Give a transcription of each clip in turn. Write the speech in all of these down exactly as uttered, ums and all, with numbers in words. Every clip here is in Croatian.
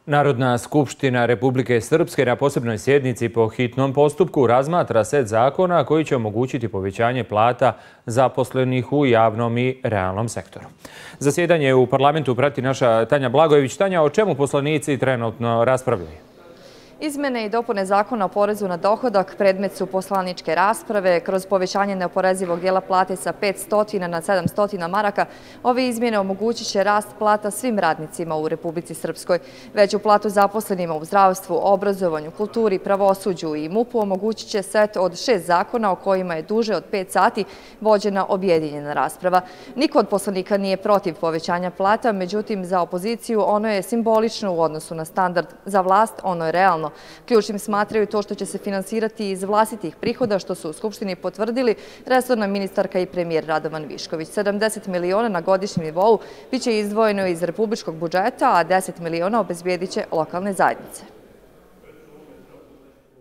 Narodna skupština Republike Srpske na posebnoj sjednici po hitnom postupku razmatra set zakona koji će omogućiti povećanje plata zaposlenih u javnom i realnom sektoru. Zasjedanje u parlamentu prati naša Tanja Blagojević. Tanja, o čemu poslanici trenutno raspravljaju? Izmene i dopune zakona o porezu na dohodak predmet su poslaničke rasprave. Kroz povećanje neoporezivog dijela plate sa petsto na sedamsto maraka, ove izmjene omogućit će rast plata svim radnicima u Republici Srpskoj. Veću platu zaposlenima u zdravstvu, obrazovanju, kulturi, pravosuđu i MUP-u omogućit će set od šest zakona o kojima je duže od pet sati vođena objedinjena rasprava. Niko od poslanika nije protiv povećanja plata, međutim za opoziciju ono je simbolično u odnosu na standard, za vlast ono je realno. Ključnim smatraju to što će se finansirati iz vlastitih prihoda, što su u Skupštini potvrdili resorna ministarka i premijer Radovan Višković. sedamdeset miliona na godišnjem nivou biće izdvojeno iz republičkog budžeta, a deset miliona obezbijedit će lokalne zajednice.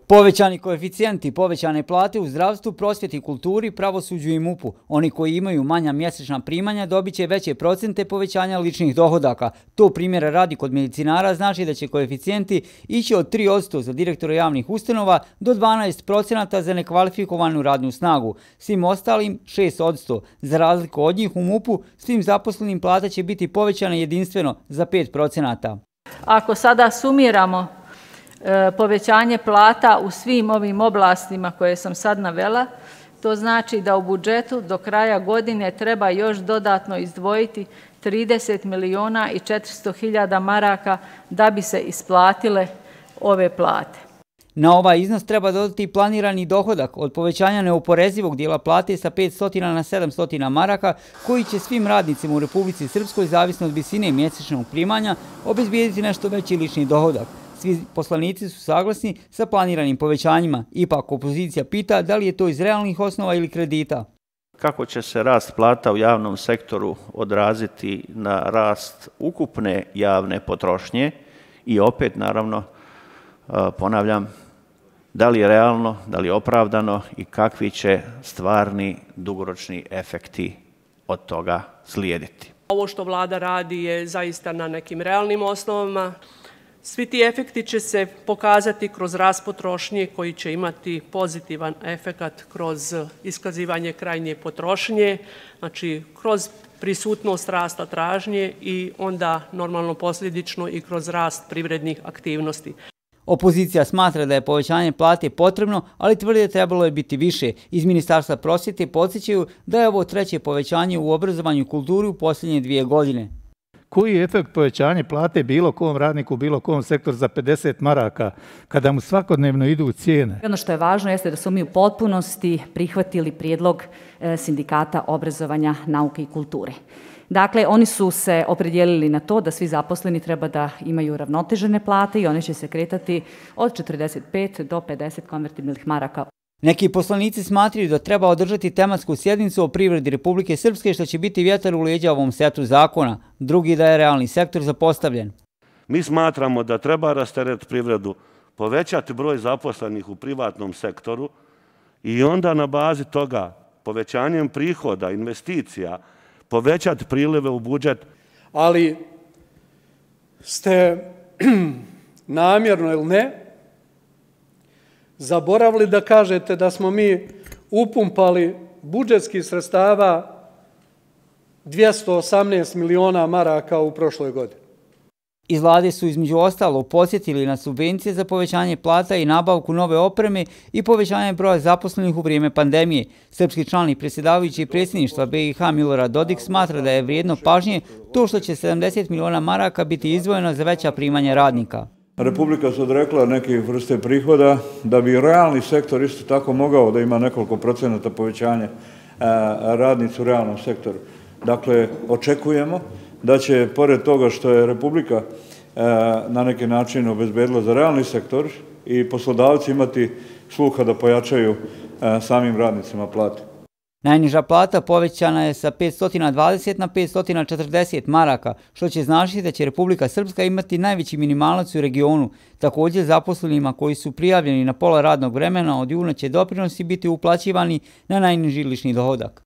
Povećani koeficijenti, povećane plate u zdravstvu, prosvjeti, kulturi, pravosuđu i MUP-u. Oni koji imaju manja mjesečna primanja dobit će veće procente povećanja ličnih dohodaka. To primjera radi kod medicinara znači da će koeficijenti ići od tri posto za direktora javnih ustanova do dvanaest procenata za nekvalifikovanu radnu snagu. Svim ostalim šest posto. Za razliku od njih u MUP-u svim zaposlenim plata će biti povećana jedinstveno za pet procenata. Ako sada sumiramo povećanje plata u svim ovim oblastima koje sam sad navela, to znači da u budžetu do kraja godine treba još dodatno izdvojiti trideset miliona i četiristo hiljada maraka da bi se isplatile ove plate. Na ovaj iznos treba dodati planirani dohodak od povećanja neoporezivog dijela plate sa petsto na sedamsto maraka, koji će svim radnicima u Republici Srpskoj, zavisno od visine mjesečnog primanja, obezbijediti nešto veći lični dohodak. Svi poslanici su saglasni sa planiranim povećanjima. Ipak opozicija pita da li je to iz realnih osnova ili kredita. Kako će se rast plata u javnom sektoru odraziti na rast ukupne javne potrošnje i opet, naravno, ponavljam, da li je realno, da li je opravdano i kakvi će stvarni dugoročni efekti od toga slijediti. Ovo što vlada radi je zaista na nekim realnim osnovama. Svi ti efekti će se pokazati kroz rast potrošnje koji će imati pozitivan efekat kroz iskazivanje krajnje potrošnje, znači kroz prisutnost rasta tražnje i onda normalno posljedično i kroz rast privrednih aktivnosti. Opozicija smatra da je povećanje plate potrebno, ali tvrdi da trebalo je biti više. Iz Ministarstva prosvjete podsjećaju da je ovo treće povećanje u obrazovanju i kulturi u posljednje dvije godine. Koji je efekt povećanja plate bilo kom radniku, bilo kom sektoru za pedeset maraka, kada mu svakodnevno idu cijene? Ono što je važno jeste da su mi u potpunosti prihvatili prijedlog sindikata obrazovanja, nauke i kulture. Dakle, oni su se opredijelili na to da svi zaposleni treba da imaju ravnotežene plate i one će se kretati od četrdeset pet do pedeset konvertibilnih maraka. Neki poslanici smatraju da treba održati tematsku sjednicu o privredi Republike Srpske, što će biti vjetar u leđa ovom setu zakona. Drugi da je realni sektor zapostavljen. Mi smatramo da treba rasteretiti privredu, povećati broj zaposlenih u privatnom sektoru i onda na bazi toga povećanjem prihoda, investicija, povećati prilive u budžet. Ali ste namjerno ili ne zaboravili da kažete da smo mi upumpali budžetskih sredstava dvjesto osamnaest miliona maraka u prošloj godini. Iz vlade su između ostalog podsjetili na subvencije za povećanje plata i nabavku nove opreme i povećanje broja zaposlenih u vrijeme pandemije. Srpski član predsjedavajući predsjedništva B i H Milorad Dodik smatra da je vrijedno pažnje to što će sedamdeset miliona maraka biti izdvojeno za veća primanja radnika. Republika se odrekla neke vrste prihoda da bi realni sektor isto tako mogao da ima nekoliko procenata povećanja radnicu u realnom sektoru. Dakle, očekujemo da će, pored toga što je Republika na neki način obezbedila za realni sektor, i poslodavci imati sluha da pojačaju samim radnicima plate. Najniža plata povećana je sa petsto dvadeset na petsto četrdeset maraka, što će značiti da će Republika Srpska imati najveći minimalac u regionu. Također zaposlenima koji su prijavljeni na pola radnog vremena od juna će doprinosi biti uplaćivani na najniži lični dohodak.